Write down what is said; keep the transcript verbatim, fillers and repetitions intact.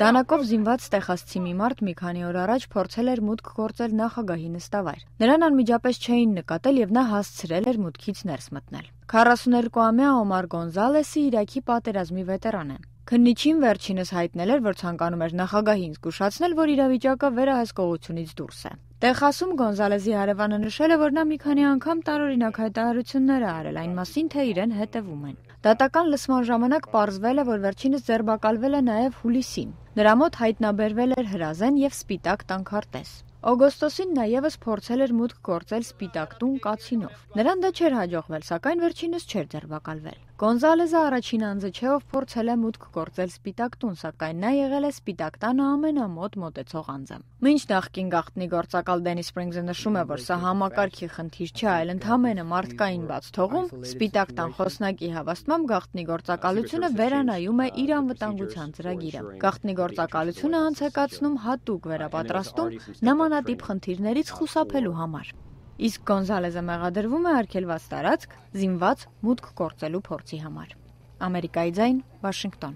Դանակով զինված տեխասցի մի մարդ մի քանի օր առաջ փորձել էր մուտք գործել նախագահի նստավայր։ Նրան անմիջապես չէին նկատել եւ նա հասցրել էր մուտքից ներս մտնել։ քառասուներկուամյա Օմար Գոնզալեսը Իրաքի պատերազմի վետերան է։ Քննիչին վերջինս հայտնել էր, որ ցանկանում էր նախագահին զգուշացնել, որ իրավիճակը վերահսկողությունից դուրս է։ Տեխասում Գոնզալեսի հարևանը նշել է, որ նա մի քանի անգամ տարօրինակ հայտարարություններ է արել այն մասին, թե իրեն հետևում են։ Դատական լսման ժամանակ պարզվել է, որ վերջինս ձերբակալվել է նաև հուլիսին։ Նրա մոտ հայտնաբերվել էր հրազեն եւ սպիտակ տանքարտեզ։ Օգոստոսին նա եւս փորձել էր մուտք գործել Սպիտակ տուն կացինով։ Նրան դա չէր հաջողվել, սակայն վերջինս չէր ձերբակալվել։ Գոնզալեսը առաջին անձը չէ, ով փորձել է մուտք գործել Սպիտակ տուն, սակայն նա եղել է Սպիտակ տանը ամենամոտ մոտեցող անձը։ Մինչ նախկին գաղտնի գործակալ Դենի Սպրինգսը նշում է, որ սա համակարգի խնդիր չէ, այլ ընդհանրապես մարդկային բաց թողում, Սպիտակ տան խոսնակի հավաստմամբ գաղտնի գործակալությունը վերանայում է իր անվտանգության ծրագիրը։ Գաղտնի գործակալությունը անց է կացնում հատուկ վերապատրաստում նմանատիպ խնդիրներից խուսափելու համար։ Իսկ Գոնզալեսը մեղադրվում է արգելված տարածք զինված մուտք գործելու փորձի համար։ Ամերիկայի ձայն, Վաշինգտոն։